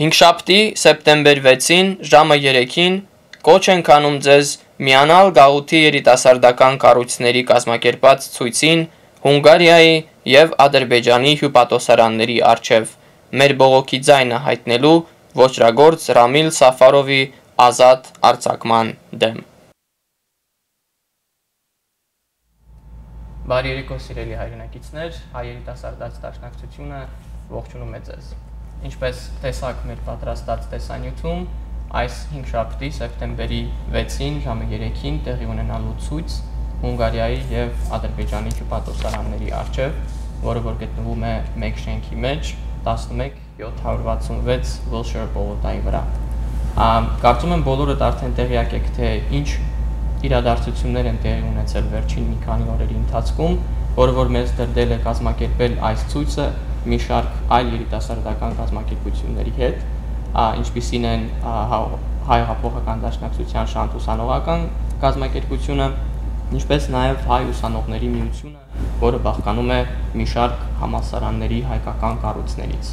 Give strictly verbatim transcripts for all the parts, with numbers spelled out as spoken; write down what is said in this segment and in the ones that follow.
Հինգշաբթի սեպտեմբեր վեցին ժամը երեքին կոչ ենք անում ձեզ միանալ գաղութի երիտասարդական կառույցների կազմակերպած ցույցին Հունգարիայի և Ադրբեջանի հյուպատոսարանների առջև մեր բողոքի ձայնը հայտնելու ոճրագործ Ռամիլ Սաֆարովի ազատ արձակման դեմ։ Բարի երեկո սիրելի հայրենակիցներ, հայ երիտասարդաց դաշնակցությունը ողջունում է ձեզ։ Ինչպես տեսաք մեր պատրաստած տեսանյութում, այս հինգշաբթի սեպտեմբերի վեցին ժամը երեքին տեղի ունենալու ցույց Հունգարիայի և Ադրբեջանի հյուպատոսարանների առջև, որը որ գտնվում է մեկ շենքի մեջ տասնմեկ յոթ հարյուր վաթսունվեց Wilshire պողոտայի վրա։ Կարծում եմ բոլորդ արդեն տեղյակ եք, թե ինչ իրադարձություններ են տեղի ունեցել վերջին մի քանի օրերի ընթացքում, որը որ մեզ դրդել է կազմակերպել այս ցույցը մի շարք այլ երիտասարդական կազմակերպությունների հետ, ինչպիսին են Հայ հեղափոխական դաշնակցության շանթ ուսանողական կազմակերպությունը, ինչպես նաև Հայ ուսանողների միությունը, որը բաղկանում է մի շարք համալսարանների հայկական կառույցներից։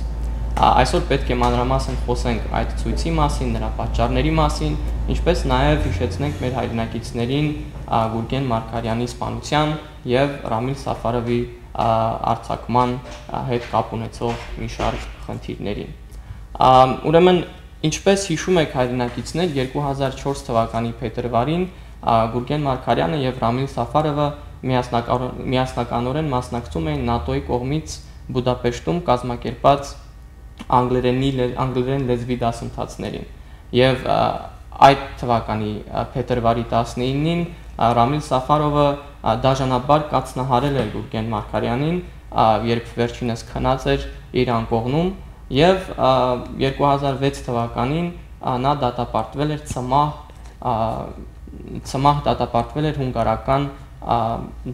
Այսօր պետք է մանրամասն խոսենք այդ ցույցի մասին, նրա պատճառների մասին, ինչպես նաև հիշեցնենք մեր հայրենակիցներին Գուրգեն Մարգարյանի սպանության և Ռամիլ Սաֆարովի արձակման հետ կապ ունեցող մի շարք խնդիրներին։ Ուրեմն, ինչպես հիշում եք հայրենակիցներ, երկու հազար չորս թվականի փետրվարին Գուրգեն Մարգարյանը և Ռամիլ Սաֆարովը միասնականորեն մասնակցում էին ՆԱՏՕ-ի կողմից Բուդապեշտում կազմակերպած անգլերեն լեզվի դասընթացներին և այդ թվականի փետրվարի տասնինին Ռամիլ Սաֆարովը դաժանաբար կացնահարել էր Գուրգեն Մարգարյանին, երբ վերջինս քնած էր իր անկողնում, և երկու հազար վեց թվականին նա դատապարտվել էր ցմահ ցմահ դատապարտվել էր հունգարական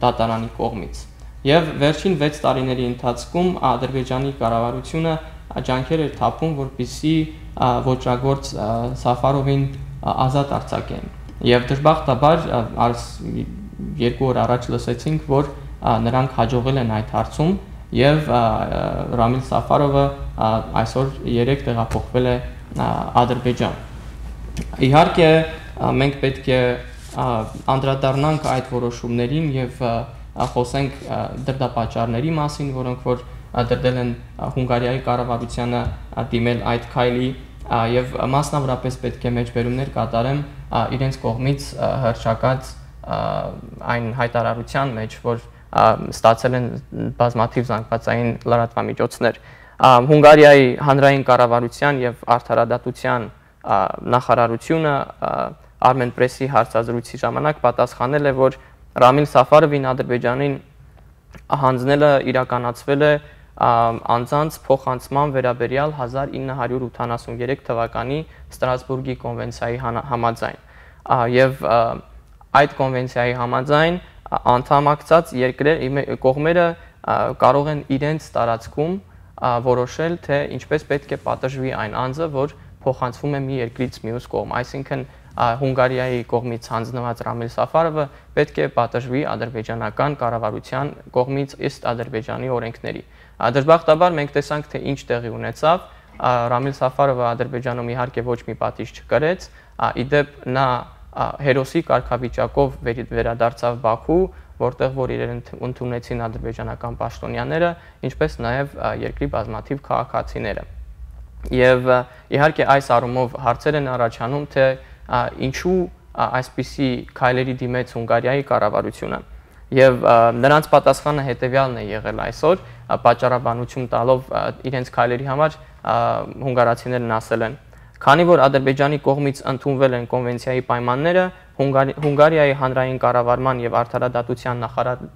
դատարանի կողմից։ Եվ վերջին վեց տարիների ընթացքում Ադրբեջանի կառավարությունը ջանքեր էր թափում, որպեսզի ոճրագործ Սաֆարովին ազատ արձակեն։ Եվ դժբախտաբար երկու օր առաջ լսեցինք, որ նրանք հաջողել են այդ հարցում և Ռամիլ Սաֆարովը այսօր երեկ տեղափոխվել է Ադրբեջան։ Իհարկե մենք պետք է անդրադառնանք այդ որոշումներին և խոսենք դրդապատճառների մասին, որոնք որ դրդել են Հունգարիայի կառավարությանը դիմել այդ քայլի և մասնավորապես պետք է մեջբերումներ կատարեմ իրենց կողմից հռչակած այն հայտարարության մեջ, որ ստացել են բազմաթիվ զանգվածային լրատվամիջոցներ։ Հունգարիայի հանրային կառավարության և արդարադատության նախարարությունը Armenpress-ի հարցազրույցի ժամանակ պատասխանել է, որ Ռամիլ Սաֆարովին Ադրբեջանին հանձնելը իրականացվել է անձանց փոխանցման վերաբերյալ հազար ինը հարյուր ութանասուներեք թվականի Ստրասբուրգի կոնվենցիայի համաձայն և այդ կոնվենցիայի համաձայն անդամակցած կողմերը կարող են իրենց տարածքում որոշել, թե ինչպես պետք է պատժվի այն անձը, որ փոխանցվում է մի երկրից մյուս կողմ, այսինքն Հունգարիայի կողմից հանձնված Ռամիլ Սաֆարովը պետք է պատժվի ադրբեջանական կառավարության կողմից ըստ Ադրբեջանի օրենքների։ Դժբախտաբար մենք տեսանք, թե ինչ տեղի ունեցավ, Ռամիլ Սաֆարովը Ադրբեջանում իհարկե ոչ մի պատիժ չկրեց, իդեպ նա հերոսի կարգավիճակով վերադարձավ Բաքու, որտեղ որ իրեն ընդունեցին ադրբեջանական պաշտոնյաները, ինչպես նաև երկրի բազմաթիվ քաղաքացիները։ Եվ իհարկե այս առումով հարցեր են առաջանում, թե ինչու այսպիսի քայլերի դիմեց Հունգարիայի կառավարությունը։ Եվ նրանց պատասխանը հետևյալն է եղել այսօր, պատճառաբանություն տալով իրենց քայլերի համար հունգարացիներն ասել են. Քանի որ Ադրբեջանի կողմից ընդունվել են կոնվենցիայի պայմանները, Հունգարիայի հանրային կառավարման և արդարադատության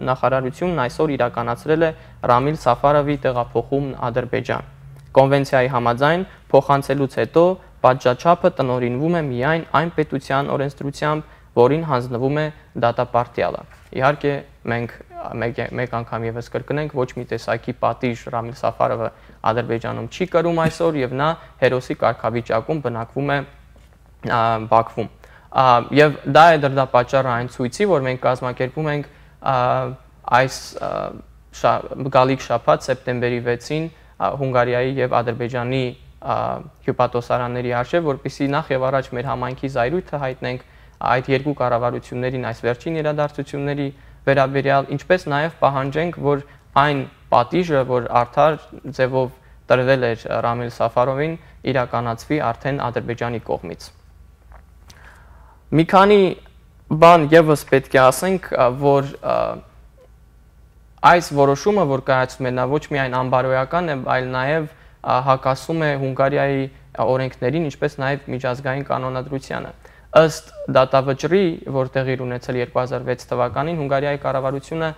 նախարարությունն այսօր իրականացրել է Ռամիլ Սաֆարովի տեղափոխումն Ադրբեջան։ Կոնվենցիայի համաձայն փոխանցելուց հետո պատժաչափը տնօրինվում է միայն այն պետության օրենսդրությամբ, որին հանձնվում է դատապարտյալը։ Իհարկե մենք մեկ անգամ ևս կրկնենք, ոչ մի տեսակի պատիժ Ռամիլ Սաֆարովը Ադրբեջանում չի կրում այսօր և նա հերոսի կարգավիճակում բնակվում է Բաքվում։ Եվ դա է դրդապատճառը այն ցույցի, որ մենք կազմակերպում ենք այս գալիք շաբաթ սեպտեմբերի վեցին Հունգարիայի և Ադրբեջանի հյուպատոսարանների արժև, որպեսզի նախ եւ առաջ մեր համայնքի զայրույթը հայտնենք այդ երկու կառավարություններին այս վերջին իրադարձությունների վերաբերյալ, ինչպես նաեւ պահանջենք, որ այն պատիժը, որ արդար ձևով տրվել էր Ռամիլ Սաֆարովին, իրականացվի արդեն Ադրբեջանի կողմից։ Մի քանի բան եւս պետք է ասենք, որ այս որոշումը, որ կայացում է, նա ոչ միայն անբարոյական է, այլ նաեւ հակասում է Հունգարիայի օրենքներին, ինչպես նաեւ միջազգային կանոնադրությանը։ Ըստ դատավճռի, որ տեղի ունեցել երկու հազար վեց թվականին, Հունգարիայի կառավարությունը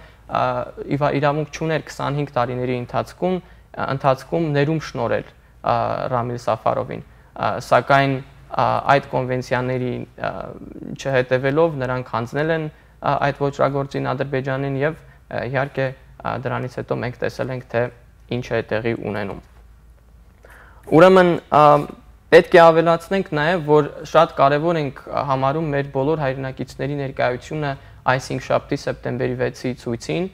իրավունք չուներ քսանհինգ տարիների ընթացքում ընթացքում ներում շնորհել Ռամիլ Սաֆարովին, սակայն այդ կոնվենցիաների չհետևելով նրանք հանձնել են այդ ոճրագործին Ադրբեջանին եւ իհարկե դրանից հետո մենք տեսել ենք, թե ինչ է տեղի ունենում։ Ուրեմն պետք է ավելացնենք նաեւ, որ շատ կարեւոր ենք համարում մեր բոլոր հայրենակիցների ներկայությունը այս հինգշաբթի սեպտեմբերի վեցի ցույցին,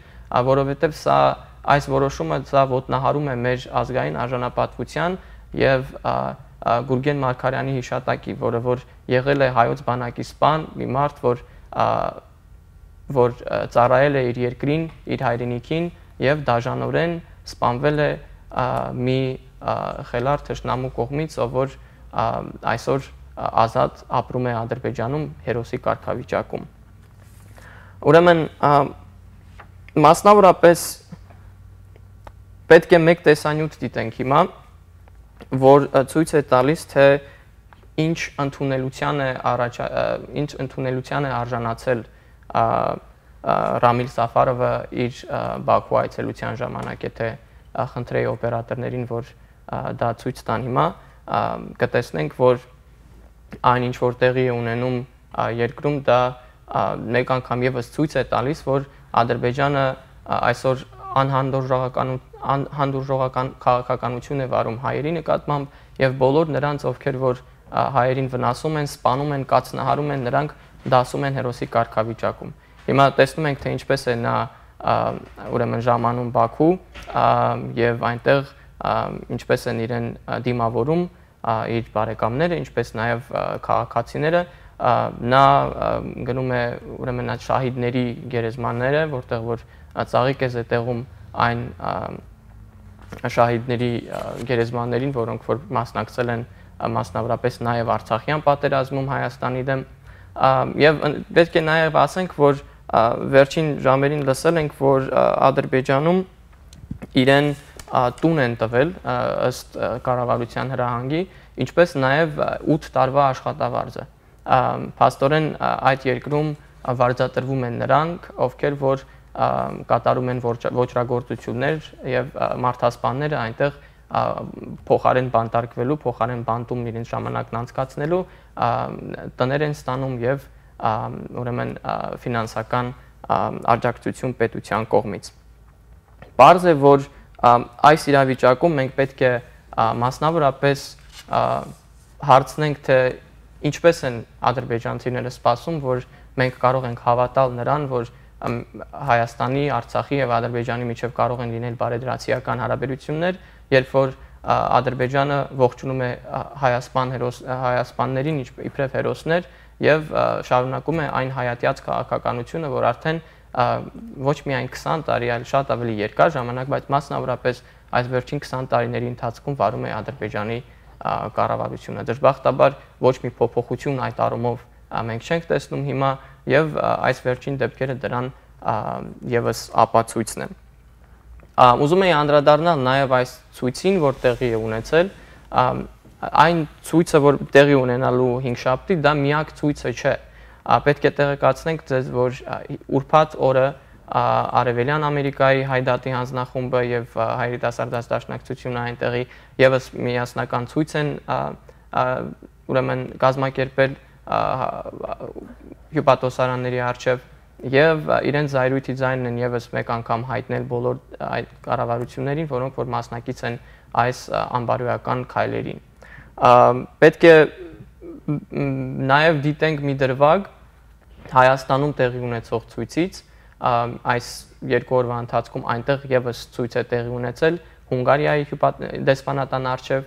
որովհետեւ սա այս որոշումը սա ոտնահարում է մեր ազգային արժանապատվության եւ Գուրգեն Մարգարյանի հիշատակի, որը որ եղել է հայոց բանակի սպան, մի մարդ, որ որ ծառայել է իր երկրին, իր հայրենիքին եւ դաժանորեն սպանվել է մի խելառ թշնամու կողմից, ով որ այսօր ազատ ապրում է Ադրբեջանում հերոսի կարգավիճակում։ Ուրեմն մասնավորապես պետք է մեկ տեսանյութ դիտենք հիմա, որ ցույց է տալիս, թե ինչ ընդունելության է առաջ ինչ ընդունելության է արժանացել Ռամիլ Սաֆարովը իր Բաքու այցելության ժամանակ, եթե խնդրեի օպերատորներին, որ դա ցույց տան հիմա, կտեսնենք, որ այն ինչ որ տեղի է ունենում երկրում, դա մեկ անգամ եւս ցույց է տալիս, որ Ադրբեջանը այսօր անհանդուրժողական քաղաքականություն է վարում հայերի նկատմամբ եւ բոլոր նրանց, ովքեր որ հայերին վնասում են, սպանում են, կացնահարում են, նրանք դասում են հերոսի կարգավիճակում։ Հիմա տեսնում ենք, թե ինչպես է նա ուրեմն ժամանում Բաքու եւ այնտեղ ինչպես են իրեն դիմավորում իր բարեկամները, ինչպես նաեւ քաղաքացիները, նա գնում է ուրեմն այդ շահիդների գերեզմանները, որտեղ որ ծաղիկ է զետեղում այն շահիդների գերեզմաններին, որոնք որ մասնակցել են մասնավորապես նաև Արցախյան պատերազմում Հայաստանի դեմ, եւ պետք է նաև ասենք, որ վերջին ժամերին լսել ենք, որ Ադրբեջանում իրեն տուն են տվել ըստ կառավարության հրահանգի, ինչպես նաև ութ տարվա աշխատավարձը։ Փաստորեն այդ երկրում վարձատրվում են նրանք, ովքեր որ կատարում են ոճրագործություններ եւ մարդասպանները այնտեղ փոխարեն բանտարկվելու, փոխարեն բանտում իրենց ժամանակն անցկացնելու տներ են ստանում եւ ուրեմն ֆինանսական աջակցություն պետության կողմից։ Պարզ է, որ այս իրավիճակում մենք պետք է մասնավորապես հարցնենք, թե ինչպես են ադրբեջանցիները սպասում, որ մենք կարող ենք հավատալ նրան, որ Հայաստանի, Արցախի եւ Ադրբեջանի միջև կարող են լինել բարեդրացիական հարաբերություններ, երբ որ Ադրբեջանը ողջունում է հայասպան հայասպաններին իբրև հերոսներ եւ շարունակում է այն հայատյաց քաղաքականությունը, որ արդեն ոչ միայն քսան տարի, այլ շատ ավելի երկար ժամանակ, բայց մասնավորապես այս վերջին քսան տարիների ընթացքում վարում է Ադրբեջանի կառավարությունը։ Դժբախտաբար ոչ մի փոփոխություն այդ առումով մենք չենք տեսնում հիմա եւ այս վերջին դեպքերը դրան եւս ապացույցն են։ Ուզում եի անդրադառնալ նաեւ այս ցույցին, որ տեղի է ունեցել, այն ցույցը, որ տեղի ունենալու հինգշաբթի, դա միակ ցույցը չէ։ Պետք է տեղեկացնենք ձեզ, որ ուրբաթ օրը Արևելյան Ամերիկայի Հայդատի հանձնախումբը եւ Հայրենասարդաց դաշնակցությունը այնտեղի եւս միասնական ցույց են ուրեմն կազմակերպել հյուպատոսարանների առջև եւ իրենց զայրույթի ձայնն են եւս մեկ անգամ հայտնել բոլոր այդ կառավարություններին, որոնք որ մասնակից են այս անբարոյական քայլերին։ Պետք է նաեւ դիտենք մի դրվագ Հայաստանում տեղի ունեցող ցույցից, այս երկու օրվա ընթացքում այնտեղ եւս ցույց է տեղի ունեցել Հունգարիայի դեսպանատան առջև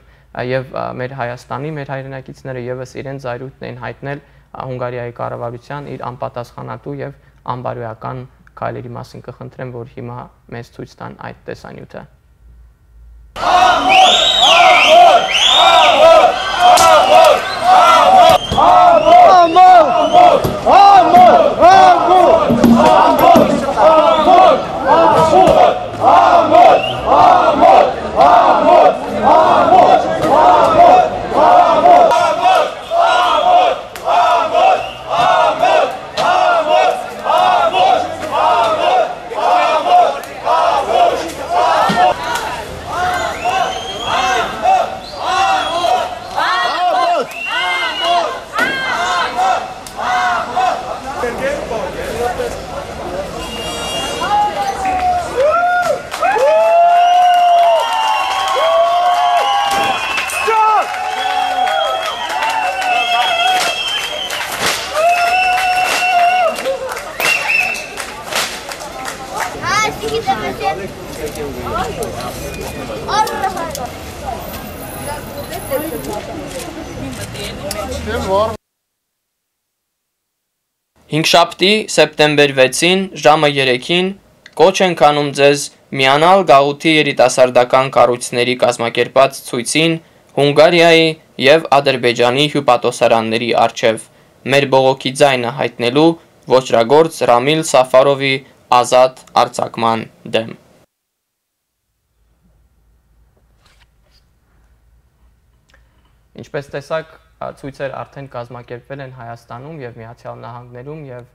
եւ մեր Հայաստանի մեր հայրենակիցները եւս իրենց զայրույթն էին հայտնել Հունգարիայի կառավարության իր անպատասխանատու եւ անբարոյական քայլերի մասին կխնդրեմ, որ հիմա մեզ ցույց տան այդ տեսանյութը։ Հինգշաբթի սեպտեմբեր վեցին ժամը երեքին կոչ ենք անում ձեզ միանալ գաղութի երիտասարդական կառույցների կազմակերպած ցույցին Հունգարիայի եւ Ադրբեջանի հյուպատոսարանների առջև մեր բողոքի ձայնը հայտնելու ոճրագործ Ռամիլ Սաֆարովի ազատ արձակման դեմ։ Ինչպես տեսակ, ցույցեր արդեն կազմակերպվել են Հայաստանում եւ Միացյալ Նահանգներում եւ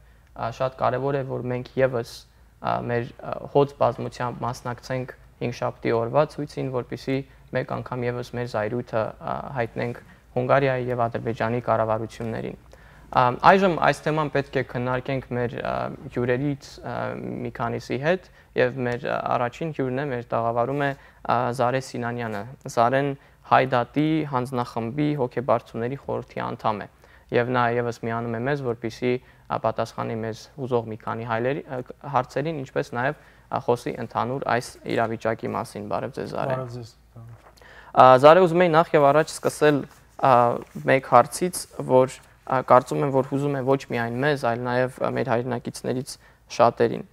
շատ կարեւոր է, որ մենք եւս մեր հոծ բազմությամբ մասնակցենք հինգշաբթի օրվա ցույցին, որպեսզի մեկ անգամ եւս մեր զայրույթը հայտնենք Հունգարիայի եւ Ադրբեջանի կառավարություններին։ Այժմ այս թեման պետք է քննարկենք մեր հյուրերից մի քանիսի հետ եւ մեր առաջին հյուրն է, մեր տաղավարում է Զարե Սինանյանը։ Զարեն Հայդատի հանձնախմբի հոգեբարձուների խորհրդի անդամ է եւ նա եւս միանում է մեզ, որպեսզի պատասխանի մեզ հուզող մի քանի հարցերին, ինչպես նաեւ խոսի ընդհանուր այս իրավիճակի մասին։ Բարև ձեզ, Զարե։ Բարև ձեզ։ Զարե, ուզում եի նախ եւ առաջ սկսել մեկ հարցից, որ կարծում եմ, որ հուզում է ոչ միայն մեզ, այլ նաեւ մեր հայրենակիցներից շատերին։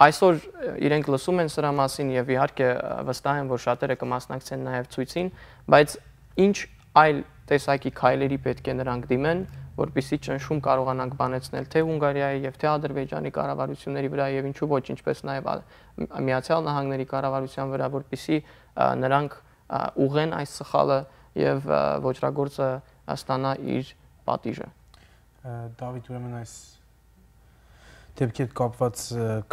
Այսօր իրենք լսում են սրա մասին եւ իհարկե վստահ եմ, որ շատերը կմասնակցեն նաեւ ցույցին, բայց ինչ այլ տեսակի քայլերի պետք է նրանք դիմեն, որպեսզի ճնշում կարողանանք բանեցնել թե Հունգարիայի եւ թե Ադրբեջանի կառավարությունների վրա եւ ինչու ոչ, ինչպես նաեւ Միացյալ Նահանգների կառավարության վրա, որպեսզի նրանք ուղղեն այս սխալը եւ ոճրագործը ստանա իր պատիժը։ Դավիթ, ուրեմն այս դեպքի հետ կապված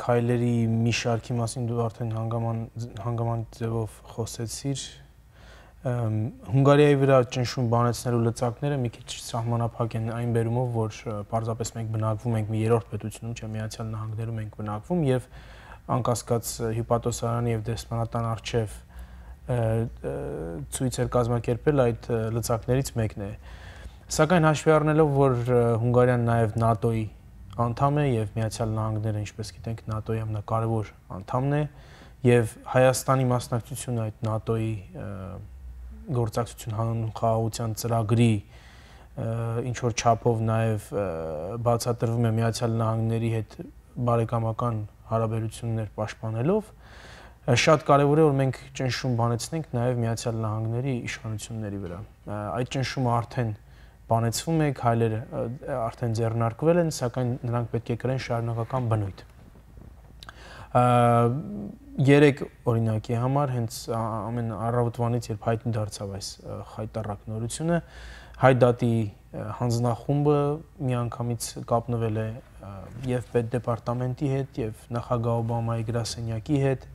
քայլերի մի շարքի մասին դու արդեն հանգամանտ ձևով խոսեցիր։ Հունգարիայի վրա ճնշում բանեցնելու լծակները մի քիչ սահմանափակ են այն բերումով, որ պարզապես մենք բնակվում ենք մի երրորդ պետությունում, չէ, Միացյալ Նահանգներում ենք բնակվում եւ անկասկած հյուպատոսարանի եւ դեսպանատան առջև ցույցեր կազմակերպել այդ լծակներից մեկն է։ Սակայն հաշվի առնելով, որ Հունգարիան նաեւ ՆԱՏՕ-ի անդամ է եւ Միացյալ Նահանգները, ինչպես գիտենք, ՆԱՏՕ-ի ամենակարևոր անդամն է եւ Հայաստանի մասնակցությունը այդ ՆԱՏՕ-ի գործակցություն հանուն խաղաղության ծրագրի ինչ որ չափով նաեւ բացատրվում է Միացյալ Նահանգների հետ բարեկամական հարաբերություններ պաշտպանելով, շատ կարեւոր է, որ մենք ճնշում բանեցնենք նաեւ Միացյալ Նահանգների իշխանությունների վրա։ Այդ ճնշումը արդեն բանեցվում է, քայլերը արդեն ձեռնարկվել են, սակայն նրանք պետք է կրեն շարունակական բնույթ։ Երեք օրինակի համար հենց ամեն առավոտվանից, երբ հայտնի դարձավ այս խայտառակ նորությունը, Հայդատի հանձնախումբը միանգամից կապնվել է եւ պետդեպարտամենտի հետ, եւ նախագահ Օբամայի գրասենյակի հետ,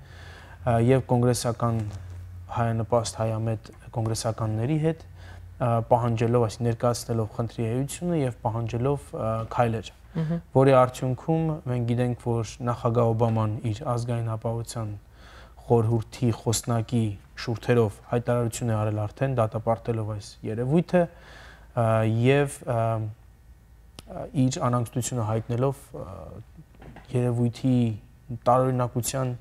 եւ կոնգրեսական հայանպաստ հայամետ կոնգրեսականների հետ, պահանջելով, այսինքն ներկայացնելով խնդրի էությունը եւ պահանջելով քայլեր, որի արդյունքում մենք գիտենք, որ նախագահ Օբաման իր ազգային ապահովության խորհրդի խոսնակի շուրթերով հայտարարություն է արել արդեն դատապարտելով այս երևույթը եւ իր անհանգստությունը հայտնելով երևույթի տարօրինակության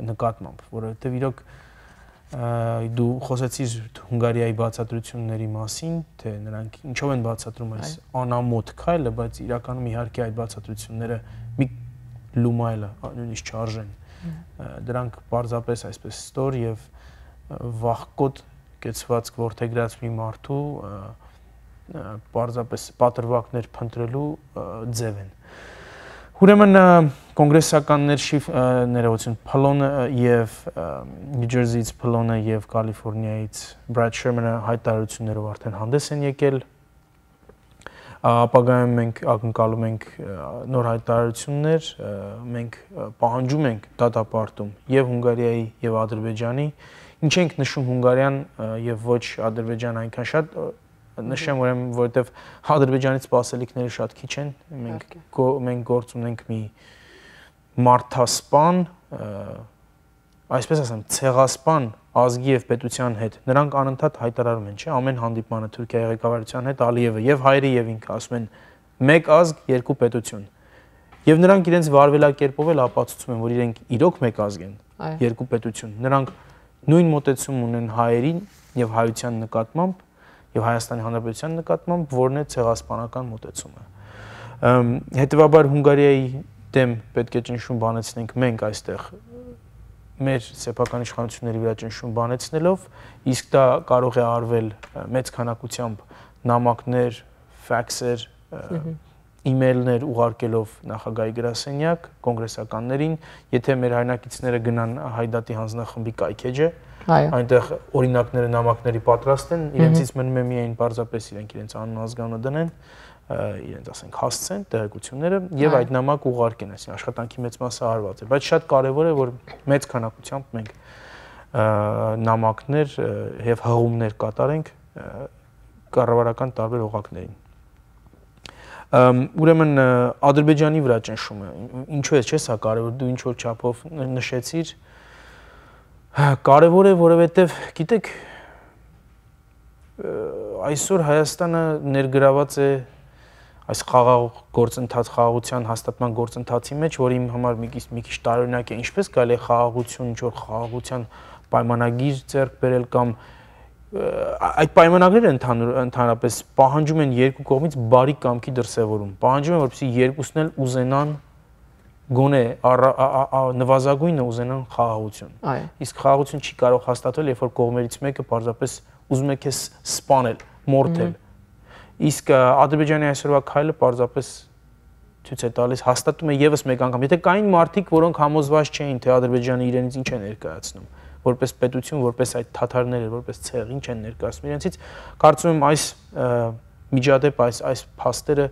նկատմամբ, որովհետեւ իրոք Դու խոսեցիր Հունգարիայի բացատրությունների մասին, թե նրանք ինչով են բացատրում այս անամոթ քայլը, բայց իրականում իհարկե այդ բացատրությունները մի լումայլ նույնիսկ չարժեն։ Դրանք պարզապես այսպես ստոր եւ վախկոտ կեցված ворթեգրած մի մարդու պարզապես պատրվակներ փնտրելու ձև են։ Ուրեմն կոնգրեսականներ ներողություն Փլոնը եւ Նյու Ջերսիից Փլոնը եւ Կալիֆոռնիայից Բրադ Շերմանը հայտարարություններով արդեն հանդես են եկել։ Ապագայում մենք ակնկալում ենք նոր հայտարարություններ, մենք պահանջում ենք դատապարտում եւ Հունգարիայի եւ Ադրբեջանի, ինչ ենք նշում Հունգարիան եւ ոչ Ադրբեջան այնքան շատ նշեմ, ուրեմն որովհետեւ Ադրբեջանից սպասելիքները շատ քիչ են, մենք մենք գործ ունենք մի մարդասպան, այսպես ասեմ, ցեղասպան ազգի եւ պետության հետ։ Նրանք անընդհատ հայտարարում են, չէ՞, ամեն հանդիպմանը Թուրքիայի ղեկավարության հետ Ալիևը եւ հայրը եւ ինքը ասում են մեկ ազգ, երկու պետություն։ Եվ նրանք իրենց վարվելակերպով էլ ապացուցում են, որ իրենք իրոք մեկ ազգ են, երկու պետություն։ Նրանք նույն մոտեցում ունեն հայերին եւ հայության նկատմամբ եւ Հայաստանի Հանրապետության նկատմամբ, որն է ցեղասպանական մոտեցումը։ Հետևաբար Հունգարիայի դեմ պետք է ճնշում բանեցնենք մենք այստեղ մեր սեփական իշխանությունների վրա ճնշում բանեցնելով, իսկ դա կարող է արվել մեծ քանակությամբ նամակներ, ֆաքսեր, email-ներ ուղարկելով նախագահի գրասենյակ, կոնգրեսականներին, եթե մեր հայրենակիցները գնան Հայդատի հանձնախմբի կայքեջը, այնտեղ օրինակները նամակների պատրաստ են, իրենցից մնում է միայն պարզապես իրենք իրենց անուն ազգանունը դնեն, իրենց ասենք հասցեն տեղեկությունները եւ այդ նամակ ուղարկեն, այսինքն աշխատանքի մեծ մասը արված է, բայց շատ կարեւոր է, որ մեծ քանակությամբ մենք նամակներ եւ հղումներ կատարենք կառավարական տարբեր օղակներին։ Ուրեմն Ադրբեջանի վրա ճնշումը, ինչու է, չէ՞, սա կարևոր, դու ինչ որ չափով նշեցիր, կարևոր է, որովհետև գիտեք, այսօր Հայաստանը ներգրաված է այս խաղաղ գործընթաց, խաղաղության հաստատման գործընթացի մեջ, որ իմ համար մի քիչ տարօրինակ է, ինչպես կարելի է խաղաղություն, ինչ որ խաղաղության պայմանագիր ձեռք բերել կամ այդ պայմանագրերը ընդհանրապես պահանջում են երկու կողմից բարի կամքի դրսևորում, պահանջում են, որպեսզի երկուսն էլ ուզենան գոնե նվազագույնը ուզենան խաղաղություն։ Իսկ խաղաղություն չի կարող հաստատվել, երբ որ կողմերից մեկը պարզապես ուզում է քեզ սպանել, մորթել։ Իսկ Ադրբեջանի այսօրվա քայլը պարզապես ցույց է տալիս, հաստատում է եւս մեկ անգամ, եթե կային մարդիկ, որոնք համոզված չէին, թե Ադրբեջանը իրենից ինչ է ներկայացնում, որպես պետություն, որպես այդ թաթարները, որպես ցեղ, ինչ են ներկայացնում իրենցից, կարծում եմ այս միջադեպ, այս այս փաստերը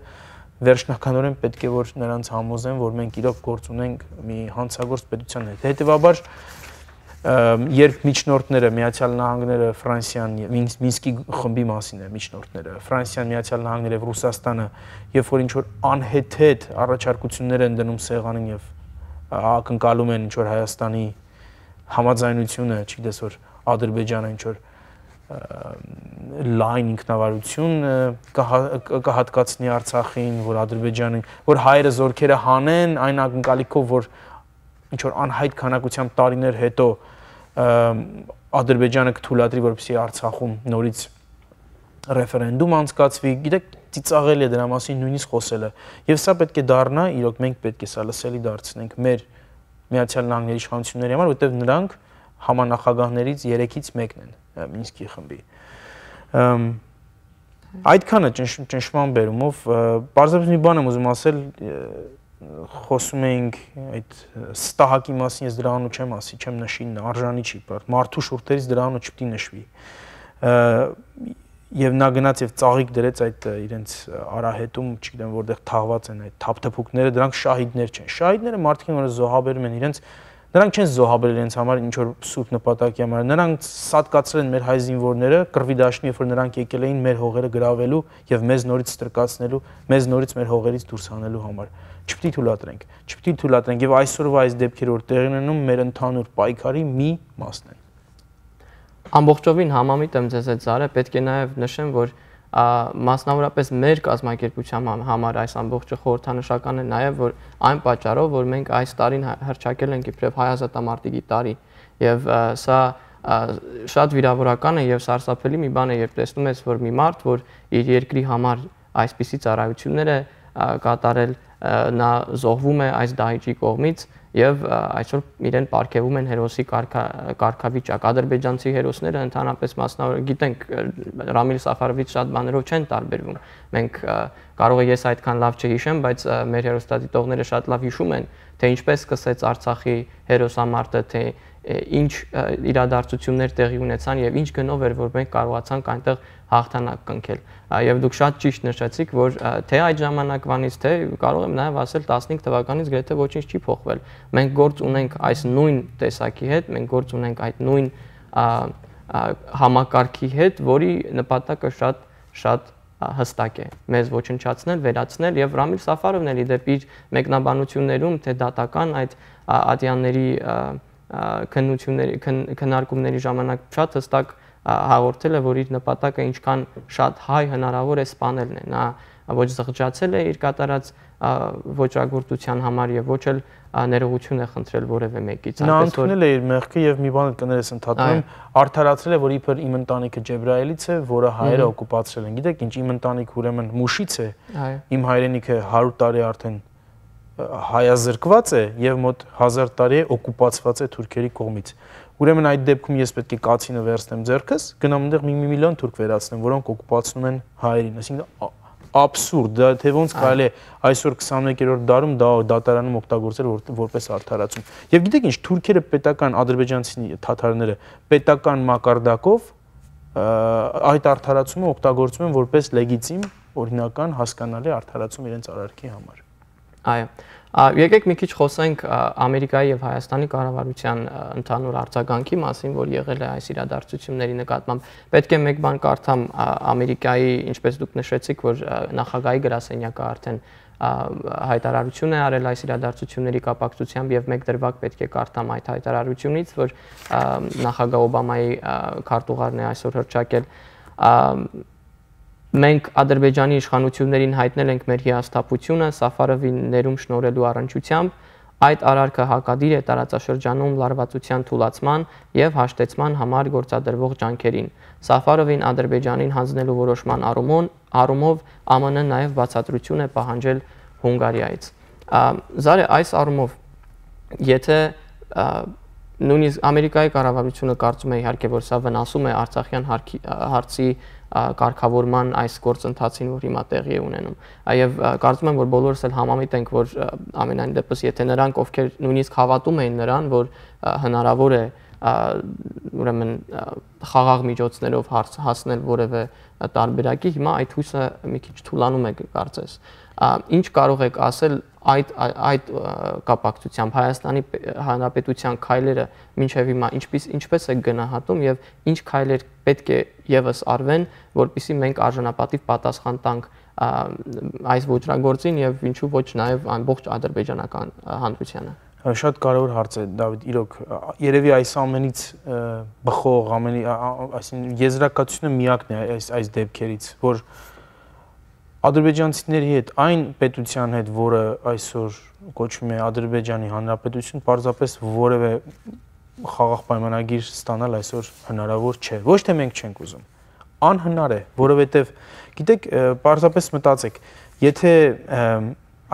վերջնականորեն պետք է որ նրանց համոզեն, որ մենք իրոք գործ ունենք մի հանցագործ պետության հետ։ Հետևաբար, երբ միջնորդները, Միացյալ Նահանգները, Ֆրանսիան, Մինսկի խմբի մասին է միջնորդները, Ֆրանսիան, Միացյալ Նահանգները եւ Ռուսաստանը, երբ որ ինչ որ անհեթեթ առաջարկություններ են դնում սեղանին եւ ակնկալում են ինչ որ Հայաստանի համաձայնությունը, չգիտես որ Ադրբեջանը ինչ որ լայն ինքնավարություն կհատկացնի Արցախին, որ Ադրբեջանին, որ հայերը զորքերը հանեն, այն ակնկալիքով, որ ինչ որ անհայտ քանակությամբ տարիներ հետո Ադրբեջանը կթույլատրի, որպեսզի Արցախում նորից ռեֆերենդում անցկացվի, գիտեք, ծիծաղելի է դրա մասին նույնիսկ խոսելը։ Եվ սա պետք է դառնա, իրոք մենք պետք է սա լսելի դարձնենք մեր Միացյալ Նահանգների իշխանությունների համար, որտեղ նրանք համանախագահներից երեքից մեկն են Մինսկի խմբի։ Այդքանը ճնշման բերումով, պարզապես մի բան եմ ուզում ասել, խոսում էինք այդ ստահակի մասին, ես դրա անունը չեմ ասի, չեմ նշի, արժանի չի, մարդու շուրթերից դրա անունը չպետք է նշվի։ Եվ նա գնաց եւ ծաղիկ դրեց այդ իրենց արահետում, չգիտեմ որտեղ թաղված են այդ թափթփուկները, դրանք շահիդներ չեն։ Շահիդները մարդիկ են, որ զոհաբերում են իրենց, նրանք չեն զոհաբերել իրենց համար ինչ որ սուրբ նպատակի համար, նրանք սատկացրել են մեր հայ զինվորները, կռվի դաշնի, երբ որ նրանք եկել էին մեր հողերը գրավելու եւ մեզ նորից ստրկացնելու, մեզ նորից մեր հողերից դուրս հանելու համար։ Չպետք է թույլատրենք, չպետք է թույլատրենք եւ այսօրվա այս դեպքերը որ տեղի ունենում մեր ընդհանուր պայքարի մի մասն են։ Ամբողջովին համամիտ եմ ձեզ հետ Զարե, պետք է նաև նշեմ, որ մասնավորապես մեր կազմակերպության համար այս ամբողջը խորհրդանշական է նաև, որ այն պատճառով, որ մենք այս տարին հռչակել ենք իբրև հայ ազատամարտիկի տարի, եւ սա շատ վիրավորական է եւ սարսափելի մի բան է, երբ տեսնում ես, որ մի մարդ, որ իր երկրի համար այսպիսի ծառայություններ է կատարել, նա զոհվում է այս դահիճի կողմից եւ այսօր իրեն պարգևում են հերոսի կարգավիճակ։ Ադրբեջանցի հերոսները ընդհանրապես մասնավոր գիտենք Ռամիլ Սաֆարովից շատ բաներով չեն տարբերվում։ Մենք կարող է ես այդքան լավ չհիշեմ, բայց մեր հերոստատիտողները շատ լավ հիշում են, թե ինչպես սկսեց Արցախի հերոսամարտը, թե ինչ իրադարձություններ տեղի ունեցան եւ ինչ գնով էր, որ մենք կարողացանք այնտեղ հաղթանակ կնքել։ Եվ դուք շատ ճիշտ նշեցիք, որ թե այդ ժամանակվանից, թե կարող եմ նաեւ ասել տասնհինգ թվականից գրեթե ոչինչ չի փոխվել։ Մենք գործ ունենք այս նույն տեսակի հետ, մենք գործ ունենք այդ նույն համակարգի հետ, որի նպատակը շատ շատ հստակ է՝ մեզ ոչնչացնել, վերացնել եւ Ռամիլ Սաֆարովն էլի դեպի իր մեկնաբանություններում, թե դատական այդ ատյանների քննությունների քննարկումների ժամանակ շատ հստակ հաղորդել է, որ իր նպատակը ինչքան շատ հայ հնարավոր է սպանելն է։ Նա ոչ զղջացել է իր կատարած ոճրագործության համար եւ ոչ էլ ներողություն է խնդրել որևէ մեկից։ Նա ընդունել է իր մեղքը եւ մի բան կներես ընդհատում, արդարացրել է, որ իբր իմ ընտանիքը Ջեբրայելից է, որը հայերը օկուպացրել են։ Գիտեք ինչ, իմ ընտանիքը ուրեմն Մուշից է, իմ հայրենիքը հարյուր տարի արդեն հայազրկված է եւ մոտ հազար տարի է օկուպացված է թուրքերի կողմից։ Ուրեմն այդ դեպքում ես պետք է կացինը վերցնեմ ձեռքս, գնամ այնտեղ մի միլիոն թուրք վերացնեմ, որոնք օկուպացնում են հայերին։ Այսինքն աբսուրդ, դա թե ոնց կարելի է այսօր քսանմեկերորդ դարում դա դատարանում օգտագործել որպես արդարացում։ Եվ գիտեք ինչ, թուրքերը պետական ադրբեջանցի թաթարները պետական մակարդակով այդ արդարացումը օգտագործում են որպես լեգիտիմ, օրինական, հասկանալի արդարացում իրենց արարքի համար։ Այո, եկեք մի քիչ խոսենք Ամերիկայի եւ Հայաստանի կառավարության ընդհանուր արձագանքի մասին, որ եղել է այս իրադարձությունների նկատմամբ։ Պետք է մեկ բան կարդամ Ամերիկայի, ինչպես դուք նշեցիք, որ նախագահի գրասենյակը արդեն հայտարարություն է արել այս իրադարձությունների կապակցությամբ եւ մեկ դրվագ պետք է կարդամ այդ հայտարարությունից, որ նախագահ Օբամայի քարտուղարն է այսօր հռչակել։ Մենք Ադրբեջանի իշխանություններին հայտնել ենք մեր հիասթափությունը Սաֆարովին ներում շնորհելու առնչությամբ։ Այդ արարքը հակադիր է տարածաշրջանում լարվածության թուլացման եւ հաշտեցման համար գործադրվող ջանքերին։ Սաֆարովին Ադրբեջանին հանձնելու որոշման առումով ԱՄՆ-ն նաեւ բացատրություն է պահանջել Հունգարիայից։ Զարե, այս առումով, եթե նույնիսկ Ամերիկայի կառավարությունը կարծում է իհարկե, որ սա վնասում է Արցախյան հարցի կարգավորման այս գործընթացին, որ հիմա տեղի է ունենում։ Եվ կարծում եմ, որ բոլորս էլ համամիտ ենք, որ ամենայն դեպս, եթե նրանք, ովքեր նույնիսկ հավատում էին նրան, որ հնարավոր է ուրեմն խաղաղ միջոցներով հասնել որևէ տարբերակի, հիմա այդ հույսը մի քիչ թուլանում է կարծես։ Ինչ կարող եք ասել այդ այդ կապակցությամբ Հայաստանի Հանրապետության քայլերը մինչև հիմա ինչպես ինչպես է գնահատում եւ ինչ քայլեր պետք է եւս արվեն, որպեսզի մենք արժանապատիվ պատասխան տանք այս ոճրագործին եւ ինչու ոչ նաեւ ամբողջ ադրբեջանական հանրությանը։ Շատ կարևոր հարց է, Դավիթ, իրոք երևի այս ամենից բխող, ամենի, այսինքն եզրակացությունը միակն է այս այս դեպքերից, որ ադրբեջանցիների հետ, այն պետության հետ, որը այսօր կոչվում է Ադրբեջանի Հանրապետություն, պարզապես որևէ խաղաղ պայմանագիր ստանալ այսօր հնարավոր չէ։ Ոչ թե մենք չենք ուզում, անհնար է, որովհետև գիտեք, պարզապես մտածեք, եթե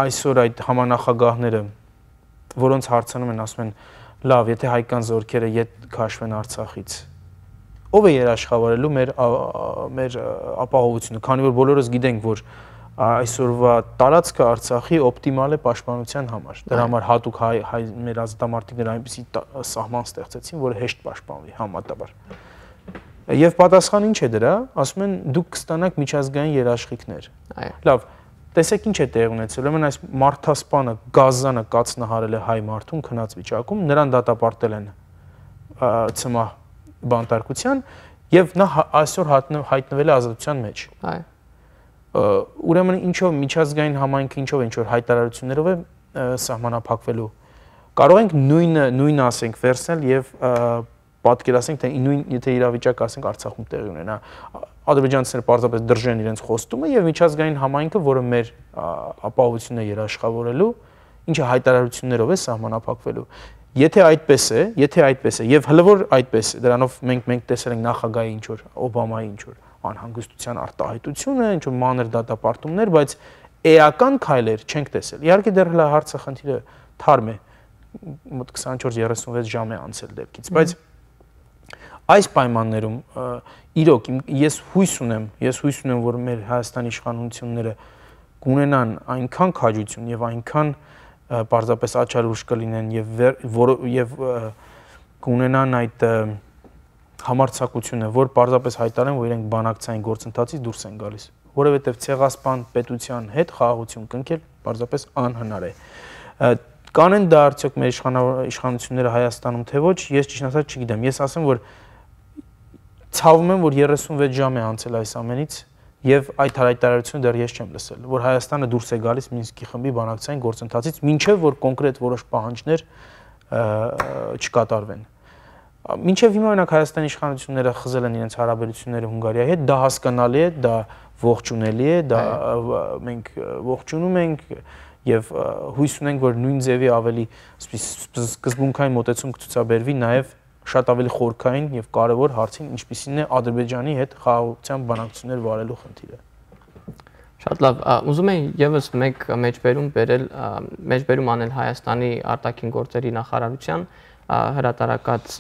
այսօր այդ համանախագահները, որոնց հարցանում են, ասում են, լավ, եթե հայկական զորքերը ետ քաշվեն Արցախից, ով է երաշխավորելու մեր մեր ապահովությունը, քանի որ բոլորս գիտենք, որ այսօրվա տարածքը Արցախի օպտիմալ է պաշտպանության համար։ Դրա համար հատուկ հայ, հայ մեր ազատամարտիկները այնպեսի սահման ստեղծեցին, որը հեշտ պաշտպանվի համատաբար։ Եվ պատասխանը ինչ է դրա, ասում են դուք կստանաք միջազգային երաշխիքներ։ Լավ, տեսեք ինչ է տեղի ունեցել, ուրեմն այս մարդասպանը Գազանը կացնահարել է հայ մարդուն քնած վիճակում, նրան դատապարտել են ցմահ բանտարկության եւ նա այսօր հայտնվել է ազատության մեջ։ Այո։ Ուրեմն ինչով միջազգային համայնքը ինչով ինչ որ հայտարարություններով է սահմանափակվելու։ Կարող ենք նույնը նույնը ասենք վերցնել եւ պատկերացնենք, թե նույն եթե իրավիճակը ասենք Արցախում տեղի ունենա, ադրբեջանցիները պարզապես դրժեն իրենց խոստումը եւ միջազգային համայնքը, որը մեր ապահովությունն է երաշխավորելու, ինչը հայտարարություններով է սահմանափակվելու։ Եթե այդպես է, եթե այդպես է, եւ հլը որ այդպես է, դրանով մենք մենք տեսել ենք նախագահի ինչ որ Օբամայի ինչ որ անհանգստության արտահայտությունը, ինչ որ մանր դատապարտումներ, բայց էական քայլեր չենք տեսել։ Իհարկե դեռ հլա հարցը խնդիրը թարմ է, մոտ քսանչորս երեսունվեց ժամ է անցել դեպքից, բայց այս պայմաններում իրոք ես հույս ունեմ, ես հույս ունեմ, որ մեր Հայաստանի իշխանությունները կունենան այնքան քաջություն եւ այնքան պարզապես աչալուրջ կլինեն եւ եւ կունենան այդ համարձակությունը, որ պարզապես հայտարարեն, որ իրենք բանակցային գործընթացից դուրս են գալիս, որովհետեւ ցեղասպան պետության հետ խաղաղություն կնքել պարզապես անհնար է։ Կանեն դա արդյոք մեր իշխանությունները Հայաստանում թե ոչ, ես ճիշտ ասած չգիտեմ։ Ես ասեմ, որ ցավում եմ, որ երեսունվեց ժամ է անցել այս ամենից եւ այդ հայտարարությունը դեռ ես չեմ լսել, որ Հայաստանը դուրս է գալիս Մինսկի խմբի բանակցային գործընթացից, մինչեւ որ կոնկրետ որոշ պահանջներ չկատարվեն։ Մինչեւ հիմա օրինակ Հայաստանի իշխանությունները խզել են իրենց հարաբերությունները Հունգարիայի հետ, դա հասկանալի է, դա ողջունելի է, դա մենք ողջունում ենք եւ հույս ունենք, որ նույն ձևի ավելի սկզբունքային մոտեցում կցուցաբերվի նաեւ շատ ավելի խորքային եւ կարեւոր հարցին, ինչպիսին է Ադրբեջանի հետ խաղաղության բանակցություններ վարելու խնդիրը։ Շատ լավ, ուզում եմ եւս մեկ մեջբերում բերել, մեջբերում անել Հայաստանի արտաքին գործերի նախարարության հրատարակած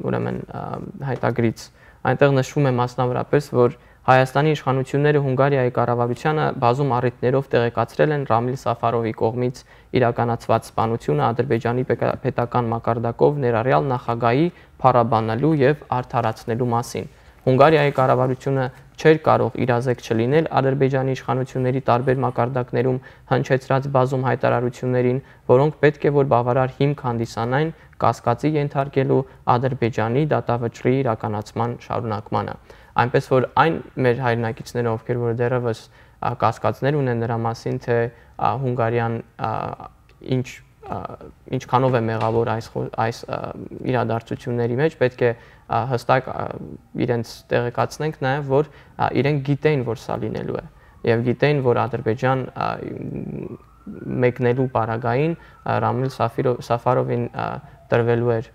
ուրեմն հայտագրից։ Այնտեղ նշվում է մասնավորապես, որ Հայաստանի իշխանությունները Հունգարիայի կառավարությանը բազում առիթներով տեղեկացրել են Ռամիլ Սաֆարովի կողմից իրականացված սպանությունը Ադրբեջանի պետական մակարդակով ներառյալ նախագահի փառաբանելու եւ արդարացնելու մասին։ Հունգարիայի կառավարությունը չէր կարող իրազեկ չլինել Ադրբեջանի իշխանությունների տարբեր մակարդակներում հնչեցրած բազում հայտարարություններին, որոնք պետք է որ բավարար հիմք հանդիսանային կասկածի ենթարկելու Ադրբեջանի դատավճռի իրականացման շարունակմանը։ Այնպես որ այն մեր հայրենակիցները, ովքեր որ դեռևս կասկածներ ունեն նրա մասին, թե Հունգարիան ինչ ինչքանով է մեղավոր այս այս իրադարձությունների մեջ, պետք է հստակ իրենց տեղեկացնենք նաև, որ իրենք գիտեին, որ սա լինելու է եւ գիտեին, որ Ադրբեջան մեկնելու պարագային Ռամիլ Սաֆարովին տրվելու էր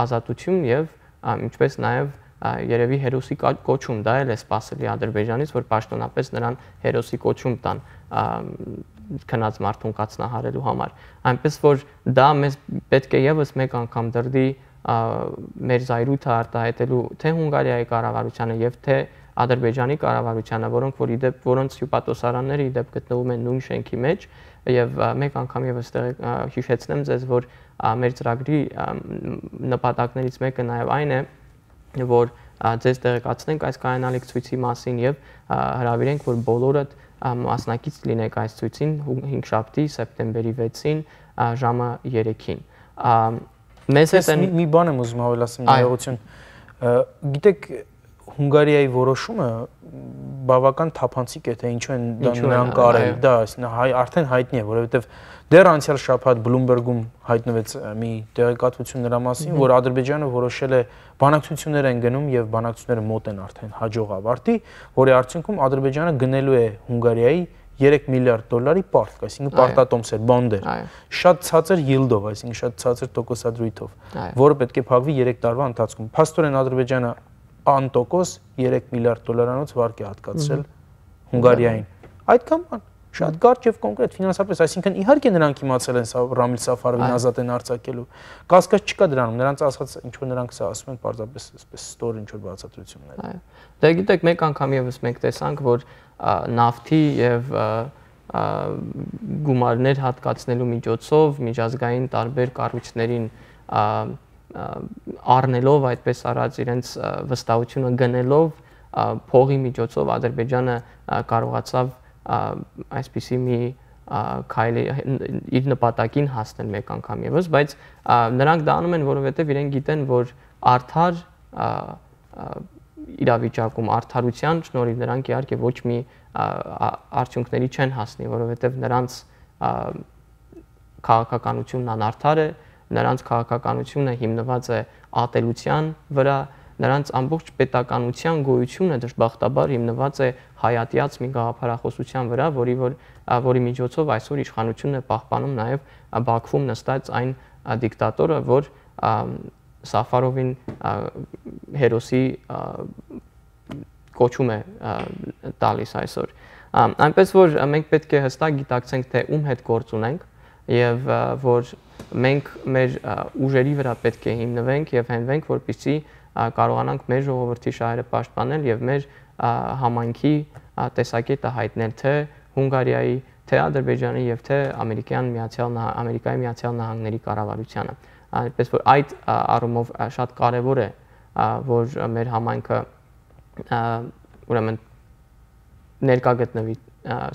ազատություն եւ ինչպես նաև երևի հերոսի կոչում, դա էլ է սպասելի Ադրբեջանից, որ պաշտոնապես նրան հերոսի կոչում տան քնած մարդուն կացնահարելու համար։ Այնպես որ դա մեզ պետք է եւս մեկ անգամ դրդի մեր զայրույթը արտահայտելու թե Հունգարիայի կառավարությանը եւ թե Ադրբեջանի կառավարությանը, որոնք որ իդեպ որոնց հյուպատոսարանները իդեպ գտնվում են նույն շենքի մեջ եւ մեկ անգամ եւս հիշեցնեմ ձեզ, որ մեր ծրագրի նպատակներից մեկը նաեւ այն է, որ ձեզ տեղեկացնենք այս կայանալիք ցույցի մասին եւ հրավիրենք, որ բոլորդ մասնակից լինեք այս ցույցին հինգշաբթի սեպտեմբերի վեցին ժամը երեքին։ Մեզ հետ մի բան եմ ուզում ավելացնել ներողություն։ Գիտեք, Հունգարիայի որոշումը բավական թափանցիկ է, թե ինչու են նրանք արել, դա արդեն հայտնի է, որովհետեւ դեռ անցյալ շաբաթ Bloomberg-ում հայտնվեց մի տեղեկատվություն նրա մասին, որ Ադրբեջանը որոշել է բանակցություններ են գնում եւ բանակցությունները մոտ են արդեն հաջող ավարտի, որի արդյունքում Ադրբեջանը գնելու է Հունգարիայի երեք միլիարդ դոլարի պարտք, այսինքն պարտատոմսեր, բոնդեր, շատ ցածր yield-ով, այսինքն շատ ցածր տոկոսադրույթով, որը պետք է փակվի երեք տարվա ընթացքում։ Փաստորեն Ադրբեջանը անտոկոս երեք միլիարդ դոլարանոց վարկ է հատկացրել Հունգարիային։ Այդքան բան, շատ կարճ եւ կոնկրետ ֆինանսապես, այսինքն իհարկե նրանք իմացել են Ռամիլ Սաֆարովին ազատ են արձակելու։ Կասկած չկա դրանում, նրանց ասած ինչ որ նրանք սա ասում են պարզապես այսպես ստոր ինչ որ բացատրություններ։ Այո։ Դե գիտեք, մեկ անգամ եւս մենք տեսանք, որ նավթի եւ գումարներ հատկացնելու միջոցով միջազգային տարբեր կառույցներին առնելով այդպես արած իրենց վստահությունը գնելով փողի միջոցով Ադրբեջանը կարողացավ այսպիսի մի քայլի իր նպատակին հասնել մեկ անգամ եւս, բայց նրանք դա անում են, որովհետեւ իրենք գիտեն, որ արդար իրավիճակում արդարության շնորհիվ նրանք իհարկե ոչ մի արդյունքների չեն հասնի, որովհետեւ նրանց քաղաքականությունն անարդար է, նրանց քաղաքականությունը հիմնված է ատելության վրա նրանց ամբողջ պետականության գոյությունը դժբախտաբար հիմնված է հայատյաց մի գաղափարախոսության վրա, որի որ որի միջոցով այսօր իշխանությունն է պահպանում նաև Բաքվում նստած այն դիկտատորը, որ Սաֆարովին հերոսի կոչում է տալիս այսօր։ Այնպես որ մենք պետք է հստակ գիտակցենք, թե ում հետ գործ ունենք եւ որ մենք մեր ուժերի վրա պետք է հիմնվենք եւ հենվենք, որպեսզի կարողանանք մեր ժողովրդի շահերը պաշտպանել եւ մեր համայնքի տեսակետը հայտնել թե Հունգարիայի, թե Ադրբեջանի եւ թե Ամերիկյան Միացյալ Ամերիկայի Միացյալ Նահանգների կառավարությանը։ Այնպես որ այդ առումով շատ կարեւոր է, որ մեր համայնքը ուրեմն ներկա գտնվի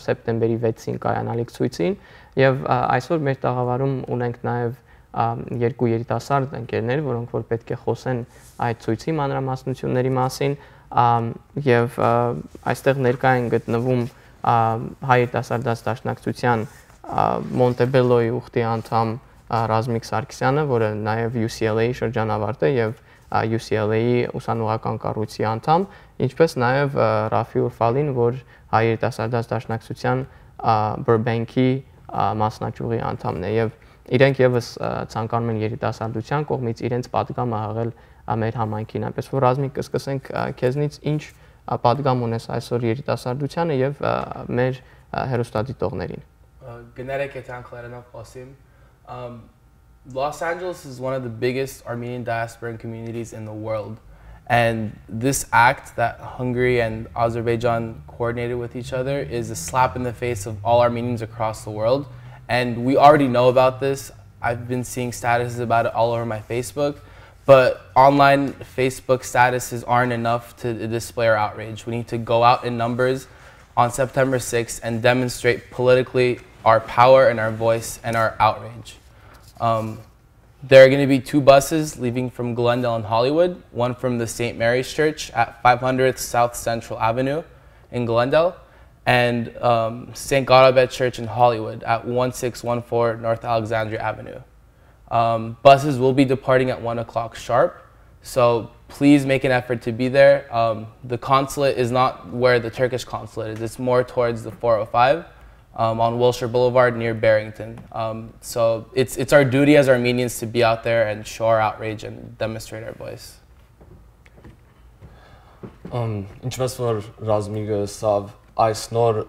սեպտեմբերի վեցին կայանալիք ցույցին եւ այսօր մեր տաղավարում ունենք նաեւ երկու երիտասարդ ընկերներ, որոնք որ պետք է խոսեն այդ ցույցի մանրամասնությունների մասին եւ այստեղ ներկա են գտնվում հայ երիտասարդաց դաշնակցության Մոնտեբելոյի ուխտի անդամ Ռազմիկ Սարգսյանը, որը նաեւ U C L A-ի շրջանավարտ է եւ U C L A-ի ուսանողական կառույցի անդամ, ինչպես նաեւ Ռաֆի Ուրֆալին, որ հայ երիտասարդաց դաշնակցության Burbank-ի մասնաճյուղի անդամն է եւ իրենք եւս ցանկանում են երիտասարդության կողմից իրենց պատգամը հաղել մեր համայնքին, այնպես որ Ռազմիկ կսկսենք քեզնից ինչ պատգամ ունես այսօր երիտասարդությանը եւ մեր հերոստատիտողներին։ Գներեք եթանք լերանով խոսիմ։ Los Angeles is one of the biggest Armenian diasporan communities in the world. And this act that Hungary and Azerbaijan coordinated with each other is a slap in the face of all Armenians across the world. And we already know about this. I've been seeing statuses about it all over my Facebook. But online Facebook statuses aren't enough to display our outrage. We need to go out in numbers on September sixth and demonstrate politically our power and our voice and our outrage. Um, There are going to be two buses leaving from Glendale and Hollywood, one from the Saint Mary's Church at five hundredth South Central Avenue in Glendale, and um, Saint Godabet Church in Hollywood at one six one four North Alexandria Avenue. Um, buses will be departing at one o'clock sharp, so please make an effort to be there. Um, the consulate is not where the Turkish consulate is, it's more towards the four oh five. Um, on Wilshire Boulevard near Barrington. Um, so it's, it's our duty as Armenians to be out there and show our outrage and demonstrate our voice. Ինչպես որ Ռազմիկը սավ այս նոր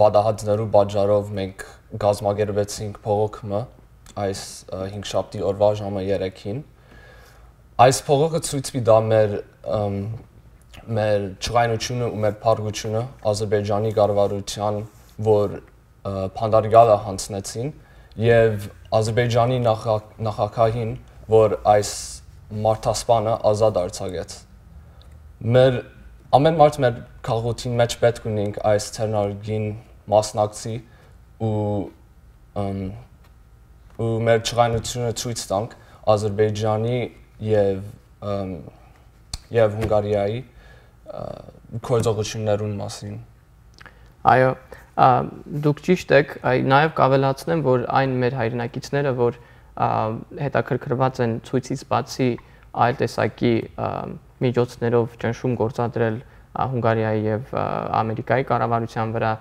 բադահատներու բաժարով մենք գազմագերվեցինք փողոքը այս հինգշաբթի օրվա ժամը երեքին։ Այս փողոքը ցույց մի դա մեր մեր ճղայնությունը ու մեր փառգությունը Ադրբեջանի կառավարության որ փանդարգալը հանձնեցին եւ Ադրբեջանի նախագահին, որ այս մարդասպանը ազատ արձակեց։ Մեր ամեն մարդ մեր քաղաքին մեջ պետք ունենք այս ցերնարգին մասնակցի ու ու մեր ճղայնությունը ցույց տանք Ադրբեջանի եւ եւ Հունգարիայի գործողություններուն մասին։ Այո, դուք ճիշտ եք, նաև կավելացնեմ, որ այն մեր հայրենակիցները, որ հետաքրքրված են ցույցից բացի այլ տեսակի միջոցներով ճնշում գործադրել Հունգարիայի եւ Ամերիկայի կառավարության վրա,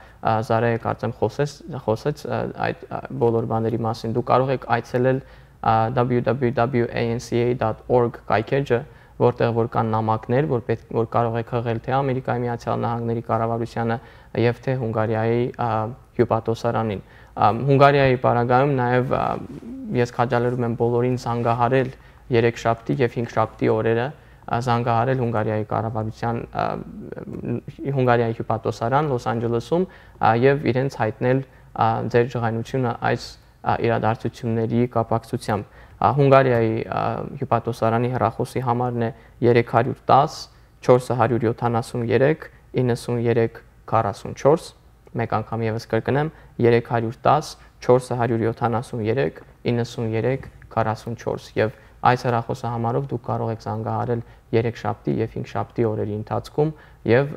Զարեը կարծեմ խոսեց խոսեց այդ բոլոր բաների մասին։ Դուք կարող եք այցելել w w w dot a n c a dot org կայքեջը, որտեղ որ կան նամակներ, որ պետք որ կարող եք հղել թե Ամերիկայի Միացյալ Նահանգների կառավարությանը եւ թե Հունգարիայի հյուպատոսարանին։ Հունգարիայի պարագայում նաեւ ես քաջալերում եմ բոլորին զանգահարել երեքշաբթի եւ հինգշաբթի օրերը, զանգահարել Հունգարիայի կառավարության Հունգարիայի հյուպատոսարան Լոս Անջելեսում եւ իրենց հայտնել ձեր ջղայնությունը այս իրադարձությունների կապակցությամբ։ Հունգարիայի հյուպատոսարանի հեռախոսի համարն է երեք հարյուր տաս չորս հարյուր յոթանասունյերեք իննսունյերեք քառասունչորս, մեկ անգամ եւս կրկնեմ երեք հարյուր տաս չորս հարյուր յոթանասունյերեք իննսունյերեք քառասունչորս եւ այս հեռախոսահամարով դուք կարող եք զանգահարել երեքշաբթի եւ հինգշաբթի օրերի ընթացքում եւ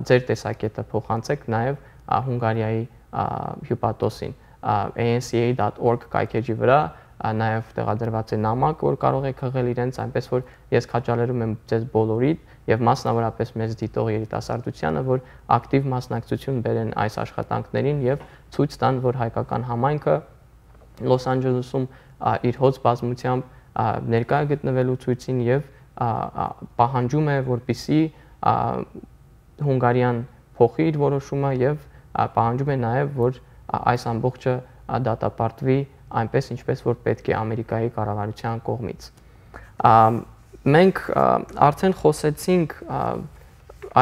ձեր տեսակետը փոխանցեք նաեւ Հունգարիայի հյուպատոսին a n c a dot org կայքեջի վրա նաև տեղադրված է նամակ, որ կարող եք հղել իրենց, այնպես որ ես քաջալերում եմ ձեզ բոլորիդ եւ մասնավորապես մեծ դիտող երիտասարդությանը, որ ակտիվ մասնակցություն բերեն այս աշխատանքներին եւ ցույց տան, որ հայկական համայնքը Լոս Անջելեսում իր հոծ բազմությամբ ներկա է գտնվելու ցույցին եւ պահանջում է, որպիսի Հունգարիան փոխի իր որոշումը եւ պահանջում է նաեւ, որ այս ամբողջը դատապարտվի այնպես, ինչպես որ պետք է Ամերիկայի կառավարության կողմից։ Մենք արդեն խոսեցինք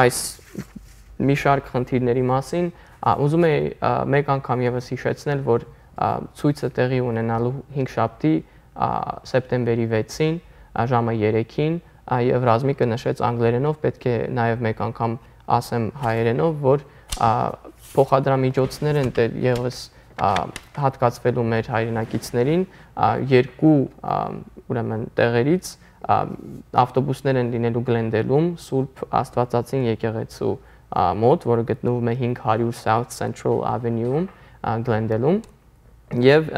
այս մի շարք խնդիրների մասին, ուզում եի մեկ անգամ եւս հիշեցնել, որ ցույցը տեղի ունենալու հինգշաբթի սեպտեմբերի վեցին ժամը երեքին եւ Ռազմիկը նշեց անգլերենով, պետք է նաեւ մեկ անգամ ասեմ հայերենով, որ փոխադրամիջոցներ են եղես հատկացվելու մեր հայրենակիցներին երկու ուրեմն տեղերից ավտոբուսներ են լինելու Գլենդելում, Սուրբ Աստվածածին եկեղեցու մոտ, որը գտնվում է հինգ հարյուր South Central Avenue-ում Գլենդելում, եւ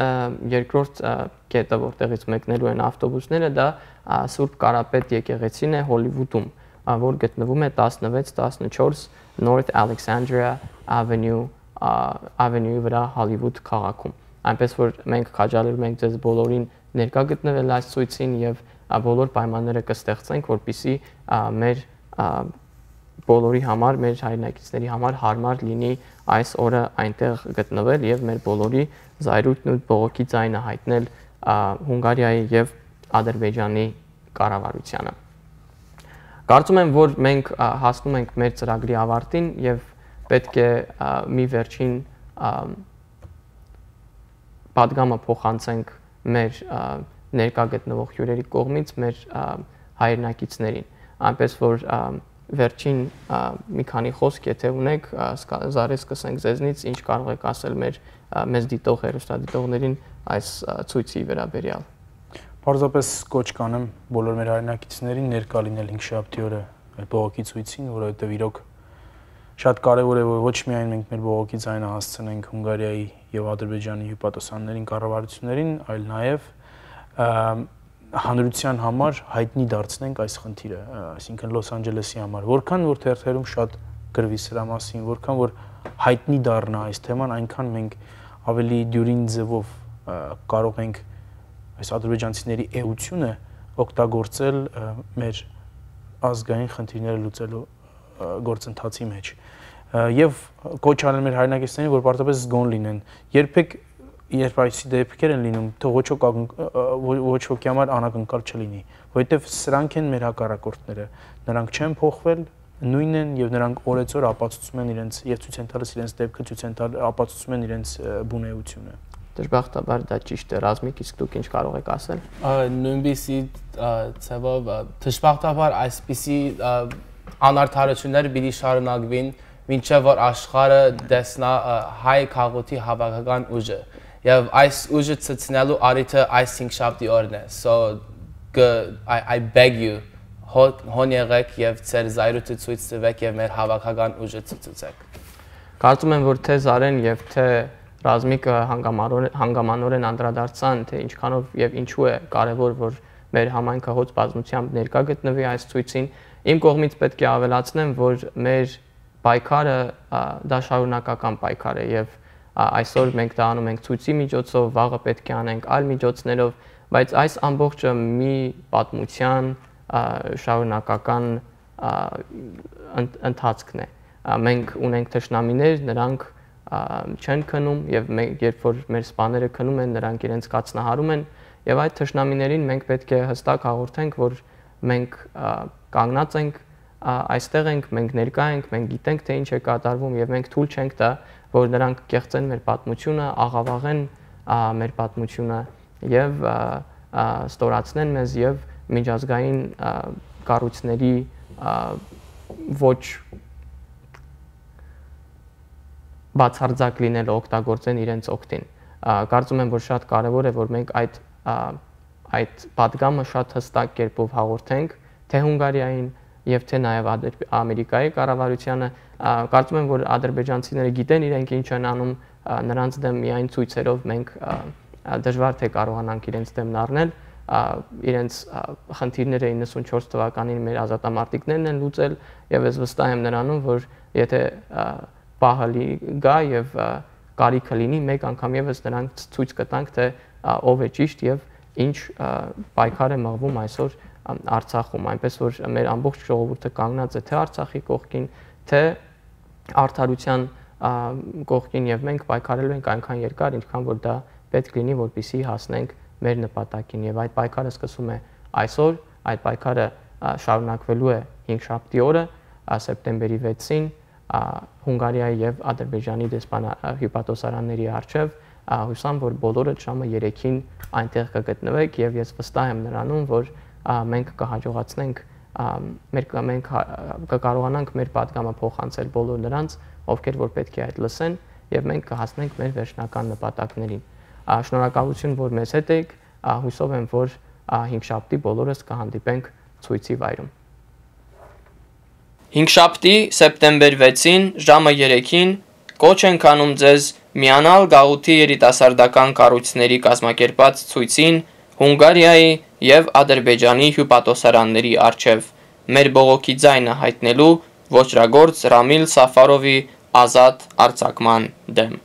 երկրորդ կետը, որտեղից մեկնելու են ավտոբուսները, դա Սուրբ Կարապետ եկեղեցին է Հոլիվուդում, որ գտնվում է տասնվեց տասնչորս North Alexandria Avenue Avenue-ի վրա Հոլիվուդ քաղաքում։ Այնպես որ մենք քաջալերում ենք ձեզ բոլորին ներկա գտնվել այս ցույցին եւ բոլոր պայմանները կստեղծենք, որպիսի մեր բոլորի համար, մեր հայրենակիցների համար հարմար լինի այս օրը այնտեղ գտնվել եւ մեր բոլորի զայրույթն ու բողոքի ձայնը հայտնել Հունգարիայի եւ Ադրբեջանի կառավարությանը։ Կարծում եմ, որ մենք հասնում ենք մեր ծրագրի ավարտին եւ պետք է մի վերջին պատգամը փոխանցենք մեր ներկա գտնվող հյուրերի կողմից մեր հայրենակիցներին, այնպես որ վերջին մի քանի խոսք եթե ունեք, Զարե սկսենք ձեզնից, ինչ կարող եք ասել մեր մեզ դիտող հեռուստադիտողներին այս ցույցի վերաբերյալ։ Պարզապես կոչ կանեմ բոլոր մեր հայրենակիցներին ներկա լինել հինգշաբթի օրը մեր բողոքի ցույցին, որովհետև իրոք շատ կարևոր է, որ ոչ միայն մենք մեր բողոքի ձայնը հասցնենք Հունգարիայի եւ Ադրբեջանի հյուպատոսաններին, կառավարություններին, այլ նաեւ հանրության համար հայտնի դարձնենք այս խնդիրը, այսինքն Լոս Անջելեսի համար, որքան որ թերթերում շատ գրվի սրա մասին, որքան որ հայտնի դառնա այս թեման, այնքան մենք ավելի դյուրին ձևով կարող ենք այս ադրբեջանցիների էությունը օգտագործել մեր ազգային խնդիրները լուծելու գործընթացի մեջ եւ կոչ անել մեր հայրենակիցներին, որ պարտադիր զգոն լինեն, երբեք երբ այսի դեպքեր են լինում, թող ոչ ոչ ոքի համար անակնկալ չլինի, որովհետև սրանք են մեր հակառակորդները, նրանք չեն փոխվել, նույնն են եւ նրանք օրեցօր ապացուցում են իրենց եւ ցույց են տալիս իրենց դեպքը, ցույց են տալ ապացուցում են իրենց բունեությունը։ Դժբախտաբար դա ճիշտ է, Ռազմիկ, իսկ դուք ինչ կարող եք ասել։ Նույնպիսի ցավով դժբախտաբար այսպիսի անարդարությունները պիտի շարունակվին, մինչև որ աշխարհը տեսնա հայ քաղաքի հավաքական ուժը։ Եվ այս ուժը ցցնելու արիթը այս հինգշաբթի օրն է։ So I, I beg you հոն եղեք եւ ձեր զայրույթը ցույց տվեք եւ մեր հավաքական ուժը ցցուցեք։ Կարծում եմ, որ թե Զարեն եւ թե Ռազմիկը հանգամանորեն անդրադարձան, թե ինչքանով եւ ինչու է կարեւոր, որ մեր համայնքը հոծ բազմությամբ ներկա գտնվի այս ցույցին։ Իմ կողմից պետք է ավելացնեմ, որ մեր պայքարը դա շարունակական պայքար է եւ այսօր մենք դա անում ենք ցույցի միջոցով, վաղը պետք է անենք այլ միջոցներով, բայց այս ամբողջը մի պատմության շարունակական ընթացքն է։ Մենք ունենք թշնամիներ, նրանք չեն քնում եւ երբ որ մեր սպաները քնում են, նրանք իրենց կացնահարում են եւ այդ թշնամիներին մենք պետք է հստակ հաղորդենք, որ մենք կանգնած ենք, այստեղ ենք, մենք ներկա ենք, մենք գիտենք թե ինչ է կատարվում եւ մենք թույլ չենք տա, որ նրանք կեղծեն մեր պատմությունը, աղավաղեն մեր պատմությունը եւ ստորացնեն մեզ եւ միջազգային կառույցների ոչ բացարձակ լինելը օգտագործեն իրենց օգտին։ Կարծում եմ, որ շատ կարևոր է, որ մենք այդ այդ պատգամը շատ հստակ կերպով հաղորդենք թե Հունգարիային եւ թե նաեւ Ամերիկայի կառավարությանը։ Կարծում եմ, որ ադրբեջանցիները գիտեն իրենք ինչ են անում, նրանց դեմ միայն ցույցերով մենք դժվար թե կարողանանք իրենց դեմն առնել, իրենց խնդիրները իննսունչորս թվականին մեր ազատամարտիկներն են լուծել եւ ես վստահ եմ նրանում, որ եթե պահը գա եւ կարիքը լինի, մեկ անգամ եւս նրանք ցույց կտանք, թե ով է ճիշտ եւ ինչ պայքար է մղվում այսօր Արցախում, այնպես որ մեր ամբողջ ժողովուրդը կանգնած է թե Արցախի կողքին, թե արդարության կողքին եւ մենք պայքարելու ենք այնքան երկար, ինչքան որ դա պետք լինի, որպեսզի հասնենք մեր նպատակին եւ այդ պայքարը սկսում է այսօր, այդ պայքարը շարունակվելու է հինգշաբթի օրը, սեպտեմբերի վեցին Հունգարիայի եւ Ադրբեջանի դեսպանահյուպատոսարանների առջեւ, հուսամ, որ բոլորը ժամը երեքին այնտեղ կգտնվեք եւ ես վստահ եմ նրանում, որ մենք կհաջողացնենք մեր մենք կկարողանանք մեր պատգամը փոխանցել բոլոր նրանց, ովքեր որ պետք է այդ լսեն եւ մենք կհասնենք մեր վերջնական նպատակներին։ Շնորհակալություն, որ մեզ հետ եք, հուսով եմ, որ հինգշաբթի բոլորս կհանդիպենք ցույցի վայրում։ Հինգշաբթի սեպտեմբեր վեցին ժամը երեքին կոչ ենք անում ձեզ միանալ գաղութի երիտասարդական կառույցների կազմակերպած ցույցին Հունգարիայի եւ Ադրբեջանի հյուպատոսարանների առջեւ մեր բողոքի ձայնը հայտնելու ոճրագործ Ռամիլ Սաֆարովի ազատ արձակման դեմ։